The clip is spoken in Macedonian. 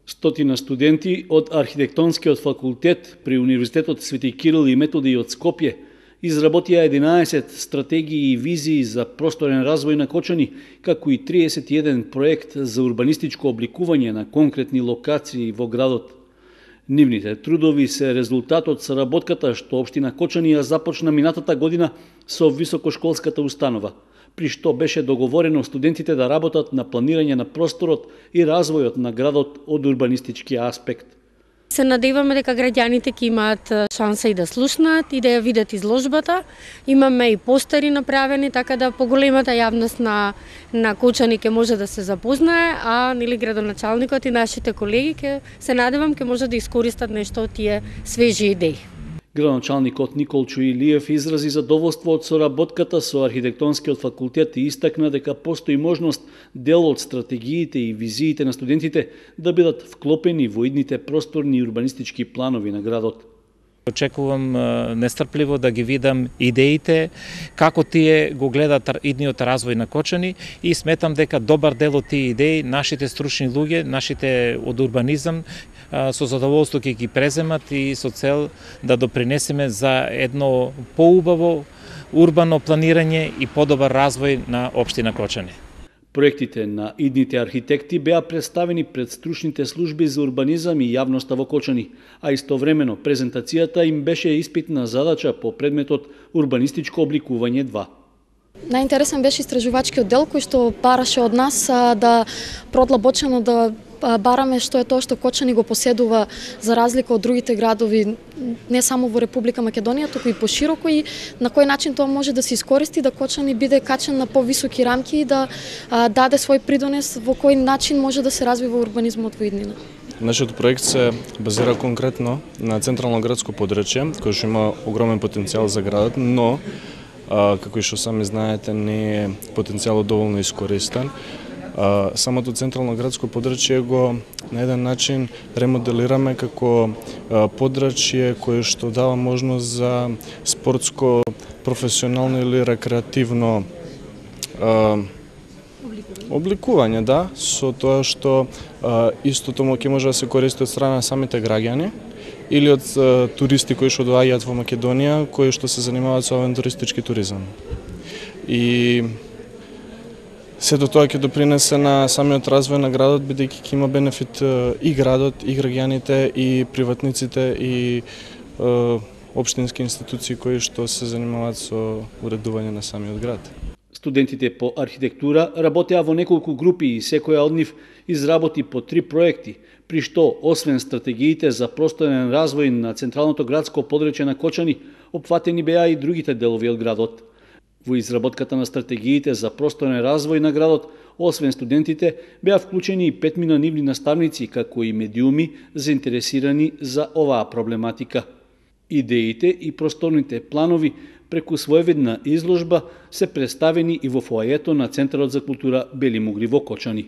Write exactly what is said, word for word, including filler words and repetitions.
Стотина студенти од Архитектонскиот факултет при Универзитетот Свети Кирил и Методи од Скопје изработија единаесет стратегии и визии за просторен развој на Кочани, како и триесет и еден проект за урбанистичко обликување на конкретни локации во градот. Нивните трудови се резултат од соработката што општина Кочани ја започна минатата година со високошколската установа, при што беше договорено студентите да работат на планирање на просторот и развојот на градот од урбанистички аспект. Се надеваме дека граѓаните ќе имаат шанса и да слушнат и да ја видат изложбата. Имаме и постери направени, така да поголемата јавност на на Кочани ќе може да се запознае, а нели градоначалникот и нашите колеги ќе се надевам ќе може да искористат нешто од тие свежи идеи. Градоначалникот Николчо Илиев изрази задоволство од соработката со Архитектонскиот факултет и истакна дека постои можност дел од стратегиите и визиите на студентите да бидат вклопени во идните просторни и урбанистички планови на градот. Очекувам нестрпливо да ги видам идеите, како тие го гледат идниот развој на Кочани и сметам дека добар дел од тие идеи нашите стручни луѓе, нашите од урбанизам со задоволство ќе ги преземат и со цел да допринесеме за едно поубаво урбано планирање и подобар развој на општина Кочани. Проектите на идните архитекти беа представени пред стручните служби за урбанизам и јавноста во Кочани, а истовремено презентацијата им беше испитна задача по предметот урбанистичко обликување два. Најинтересен беше истражувачкиот дел кој што бараше од нас да продлабочено да бараме што е тоа што Кочани го поседува за разлика од другите градови не само во Република Македонија, туку и пошироко, и на кој начин тоа може да се искористи да Кочани биде качен на повисоки рамки и да а, даде свој придонес во кој начин може да се развива урбанизмот во иднина. Нашиот проект се базира конкретно на централно градско подрачје, кој што има огромен потенцијал за градот, но а, како и што сами знаете не е потенцијалот доволно искористен. Uh, самото централно градско подрачје го на еден начин ремоделираме како uh, подрачје кое што дава можност за спортско, професионално или рекреативно uh, обликување, да, со тоа што uh, истото ќе може да се користи од страна на самите граѓани или од uh, туристи кои што доаѓаат во Македонија, кои што се занимаваат со авантуристички туризам. И сето тоа ќе допринесе на самиот развој на градот, бидејќи ќе има бенефит и градот, и граѓаните, и приватниците, и е, општински институции кои што се занимаваат со уредување на самиот град. Студентите по архитектура работеа во неколку групи и секоја од нив изработи по три проекти, при што, освен стратегиите за просторен развој на централното градско подрачје на Кочани, опфатени беа и другите делови од градот. Во изработката на стратегиите за просторен развој на градот, освен студентите, беа вклучени и петмина нивни наставници, како и медиуми заинтересирани за оваа проблематика. Идеите и просторните планови преку своевидна изложба се представени и во фоајето на Центарот за култура Бели Мугли во Кочани.